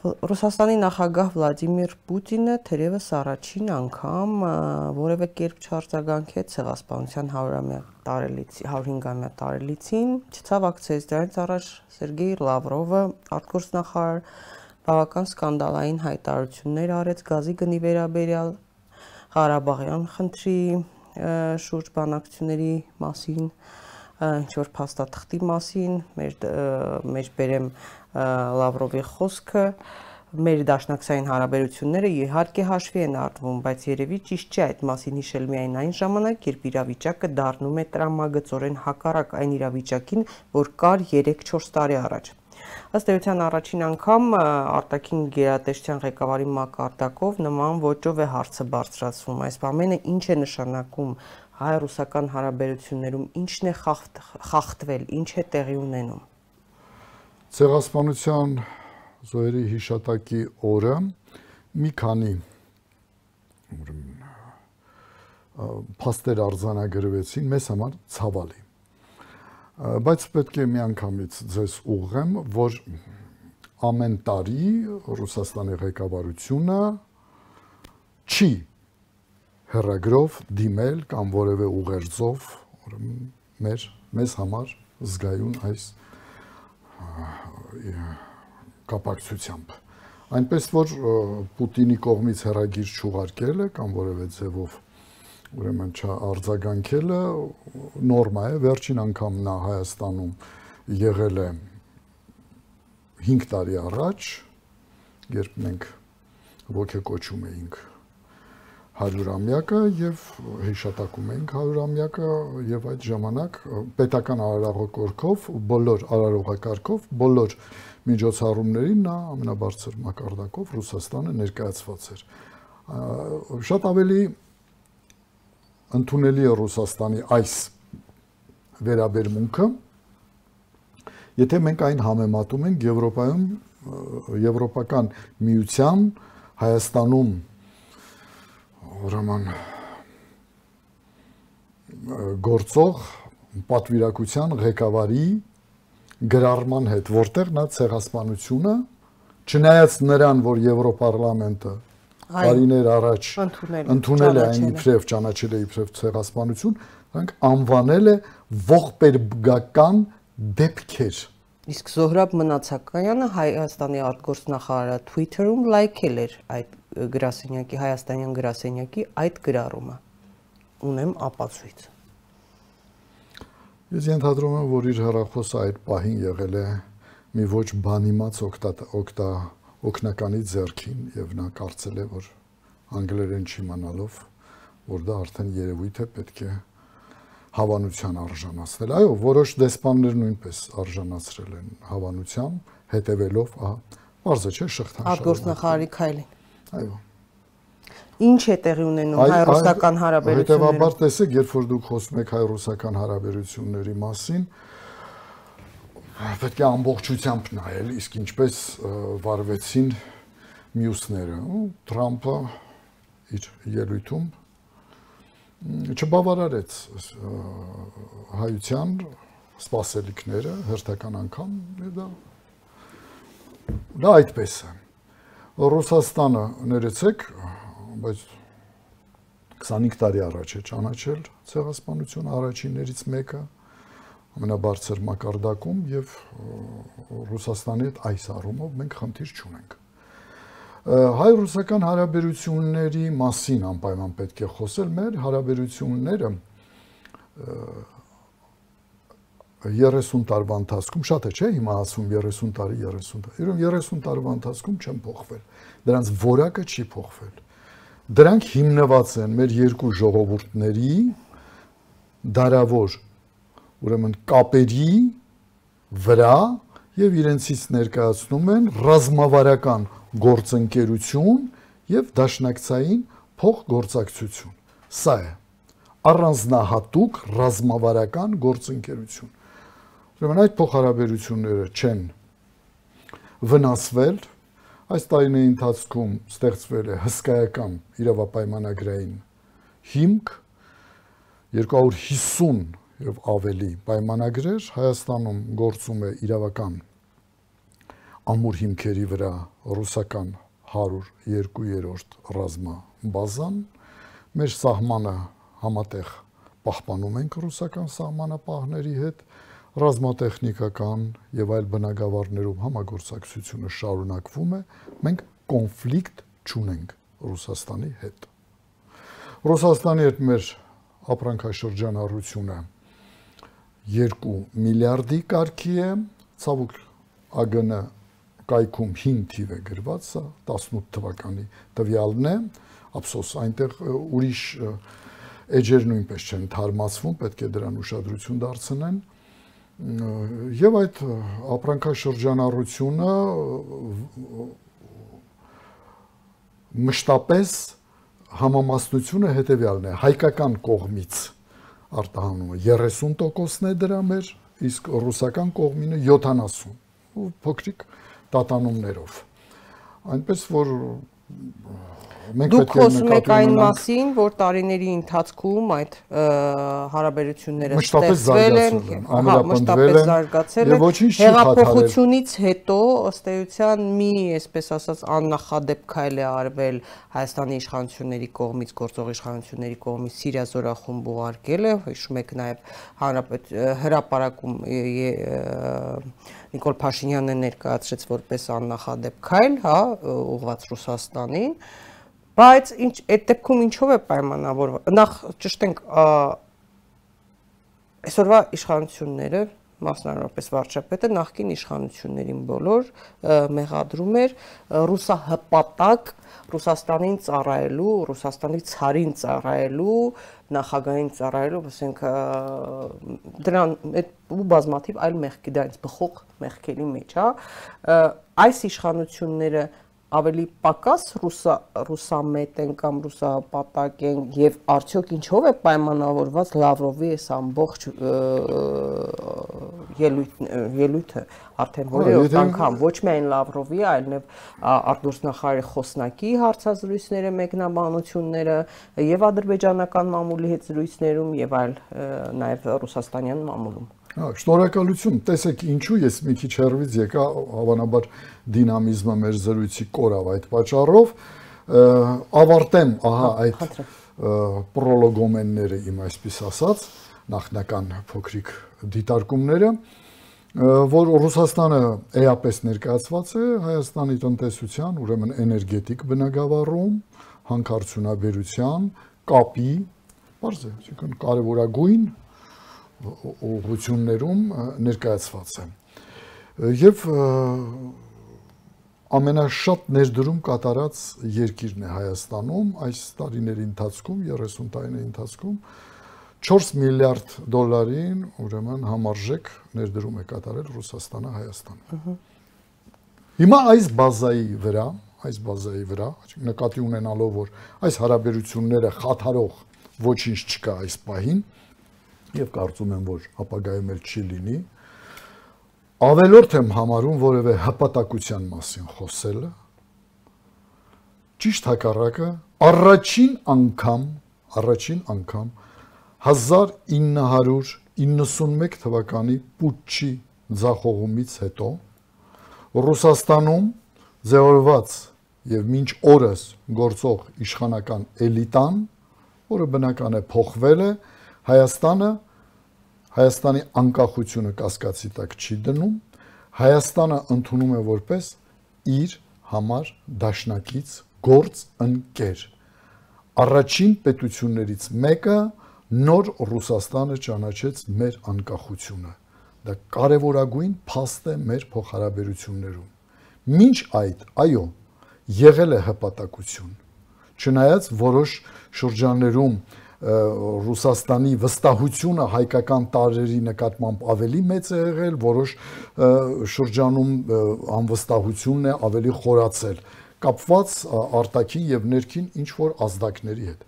Ռուսաստանի նախագահ Վլադիմիր Պուտինը թերևս առաջին անգամ որևէ կերպ չարձագանքեց ցեղասպանության 105-ամյա տարելիցին, չցավակցեց դրանից առաջ Սերգեյ Լավրովը արտգործնախարար բավական սկանդալային հայտարարություններ արեց գազի գնի վերաբերյալ, Ղարաբաղյան խնդրի շուրջ բանակցությունների մասին, ինչ-որ փաստաթղթի մասին, մեր բերեմ Լավրովի խոսքը, մեր դաշնակցային հարաբերությունները իհարկե հաշվի են առնվում, բայց երևի ճիշտ չէ այդ մասին հիշել միայն այն ժամանակ, երբ իրավիճակը դառնում է տրամագծորեն հակառակ այն իրավիճակին, որ կար 3-4 տարի առաջ։ Ըստ էության առաջին անգամ արտաքին գերատեսչության ղեկավարի մակարդակով նման ոճով է հարցը բարձրացվում։ Այս ամենը ինչ է նշանակում հայ-ռուսական հարաբերություններում, ինչն է խախտվել, ինչ է տեղի ունենում։ Ցեղասպանության զոհերի հիշատակի օրը մի քանի փաստեր արձանագրվեցին, մեզ համար ցավալի։ Բայց պետք է միանգամից ձեզ ուղղեմ, որ ամեն տարի Ռուսաստանի ղեկավարությունը չի հեռագրով դիմել կամ որևէ ուղերձով մեզ համար զգայուն այս կապակցությամբ։ Այնպես որ Պուտինի կողմից հեռագիր չուղարկելը կամ որևէ ձևով ուրեմն չարձագանքելը նորմա է, վերջին անգամ նա Հայաստանում եղել է 5 տարի առաջ, երբ մենք ոգեկոչում էինք 100-ամյակը եւ հիշատակում էինք 100-ամյակը եւ այդ ժամանակ պետական արարողակարգով, բոլոր միջոցառումներին նա ամենաբարձր մակարդակով Ռուսաստանը ներկայացված էր։ Շատ ավելի ընդունելի է Ռուսաստանի այս վերաբերմունքը, եթե մենք այն համեմատում ենք Եվրոպական միության Հայաստանում ուրեմն գործող պատվիրակության ղեկավարի գրառման հետ, որտեղ նա ցեղասպանությունը, չնայած նրան, որ Եվրոպարլամենտը տարիներ առաջ ընդունել է այն իբրև ճանաչել է իբրև ցեղասպանություն, նրանք անվանել է ողբերգական դեպքեր։ Իսկ Զոհրաբ Մնացակայանը Հայաստանի արտգործնախարարը Twitter-ում լայքել էր այդ գրասենյակի, հայաստանյան գրասենյակի այդ գրառումը։ Ունեմ ապացույց։ Ես ենթադրում եմ, որ իր հեռախոսը այդ պահին եղել է մի ոչ բանիմաց օգնականի ձեռքին եւ նա կարծել է, որ անգլերեն չիմանալով, որ դա արդեն երևույթ է, պետք է հավանության արժանացնել։ Այո, որոշ դեսպաններ նույնպես արժանացրել են հավանության, հետևելով, բարձր չէ, շղթան արտգործնախարարի քայլին։ Այո։ Ինչ է տեղի ունենում հայ-ռուսական հարաբերություններում։ Հետևաբար տեսեք, երբ որ դուք խոսում եք հայ-ռուսական հարաբերությունների մասին, պետք է ամբողջությամբ նայել, իսկ ինչպես վարվեցին մյուսները։ Թրամփը իր ելույթում չբավարարեց հայության սպասելիքները հերթական անգամ, դա այդպես է։ Ռուսաստանը, ներեցեք, բայց 25 տարի առաջ է ճանաչել ցեղասպանություն առաջիններից մեկը ամենաբարձր մակարդակում եւ Ռուսաստանի հետ այս առումով մենք խնդիր չունենք։ Հայ-ռուսական հարաբերությունների մասին անպայման պետք է խոսել, մեր հարաբերությունները 30 տարվա ընթացքում, շատ է, չէ՞, հիմա ասում 30 տարի, 30 տարվա ընթացքում չեն փոխվել։ Դրանց որակը չի փոխվել։ Դրանք հիմնված են մեր երկու ժողովուրդների դարավոր ուրեմն կապերի վրա եւ իրենցից ներկայացնում են ռազմավարական գործընկերություն եւ դաշնակցային փոխգործակցություն։ Սա է առանձնահատուկ ռազմավարական գործընկերություն։ Ուրեմն այդ փոխհարաբերությունները չեն վնասվել, այս տարիների ընթացքում ստեղծվել է հսկայական իրավապայմանագրային հիմք, 250 եւ ավելի պայմանագրեր, Հայաստանում գործում է իրավական ամուր հիմքերի վրա ռուսական 102-րդ ռազմաբազան, մեր սահմանը համատեղ պահպանում ենք ռուսական սահմանապահների հետ, ռազմատեխնիկական եւ այլ բնագավառներում համագործակցությունը շարունակվում է, մենք կոնֆլիկտ չունենք Ռուսաստանի հետ։ Ռուսաստանի հետ մեր ապրանքաշրջանառությունը 2 միլիարդի կարգի է, ցավոք ԱԳՆ կայքում 5 թիվ է գրված, սա 18 թվականի տվյալն է, ափսոս այնտեղ ուրիշ էջեր նույնպես չեն թարմացվում, պետք է դրան ուշադրություն դարձնեն, եւ այդ ապրանքաշրջանառությունը մշտապես համամասնությունը հետեւյալն է, հայկական կողմից արտահանումը 30%-ն է դրա մեր, իսկ ռուսական կողմինը 70%, փոքրիկ տատանումներով։ Այնպես որ Դուք խոսում եք այն մասին, որ տարիների ընթացքում այդ հարաբերությունները ստեղծվել են, մշտապես զարգացել են, հեղափոխությունից հետո ըստ էության մի, այսպես ասած, աննախադեպ քայլ է արվել Հայաստանի իշխանությունների կողմից, գործող իշխանությունների կողմից Սիրիա զորախումբ ուղարկել է, հիշում եք նաև հրապարակում Նիկոլ Փաշինյանը ներկայացրեց որպես աննախադեպ քայլ, հա, ուղղված Ռուսաստանին, բայց այդ դեպքում ինչով է պայմանավորված, նախ ճշտենք այսօրվա իշխանությունները, մասնավորապես վարչապետը նախկին իշխանություններին բոլոր մեղադրում էր ռուսահպատակ Ռուսաստանին ծառայելու, Ռուսաստանի ցարին ծառայելու, նախագահին ծառայելու, ասենք դրան ու բազմաթիվ այլ մեղքի դրանից բխող մեղքերի մեջ, հա, այս իշխանությունները ավելի պակաս ռուսամետ են կամ ռուսապատակ են եւ արդյոք ինչով է պայմանավորված Լավրովի այս ամբողջ ելույթը արդեն որևէ անգամ ոչ միայն Լավրովի, այլև արտգործնախարարի խոսնակի հարցազրույցները, մեկնաբանությունները եւ ադրբեջանական մամուլի հետ զրույցներում եւ այլ նաեւ ռուսաստանյան մամուլում։ Շնորհակալություն, տեսեք ինչու ես մի քիչ հեռվից եկա, հավանաբար դինամիզմը մեր զրույցի կորավ այդ պատճառով, ավարտեմ, ահա այդ պրոլոգոմենները իմ այսպես ասած, նախնական փոքրիկ դիտարկումները, որ Ռուսաստանը էապես ներկայացված է Հայաստանի տնտեսության, ուրեմն էներգետիկ բնագավառում, հանքարդյունաբերության, կապի, բարձր, այսինքն կարևորագույն ուղղություններում ներկայացված է եւ ամենաշատ ներդրում կատարած երկիրն է Հայաստանում այս տարիների ընթացքում 30 տարիների ընթացքում 4 միլիարդ դոլարին ուրեմն համարժեք ներդրում է կատարել Ռուսաստանը Հայաստանը հիմա այս բազայի վրա նկատի ունենալով որ այս հարաբերությունները խաթարող ոչինչ չկա այս պահին եւ կարծում եմ, որ ապագայում էլ չի լինի, ավելորդ եմ համարում որևէ հպատակության մասին խոսելը, ճիշտ հակառակը, առաջին անգամ 1991 թվականի պուտչի ձախողումից հետո Ռուսաստանում ձևավորված եւ մինչ օրս գործող իշխանական էլիտան, որը բնական է փոխվել է, Հայաստանի անկախությունը կասկածի տակ չի դնում, Հայաստանը ընդունում է որպես իր համար դաշնակից գործ ընկեր։ Առաջին պետություններից մեկը նոր Ռուսաստանը ճանաչեց մեր անկախությունը։ Դա կարևորագույն փաստ է մեր փոխհարաբերություններում։ Մինչ այդ, այո, եղել է հպատակություն։ Չնայած որոշ շրջաններում Ռուսաստանի վստահությունը հայկական տարրերի նկատմամբ ավելի մեծ է եղել, որոշ շրջանում անվստահությունն է ավելի խորացել, կապված արտաքին եւ ներքին ինչ որ ազդակների հետ։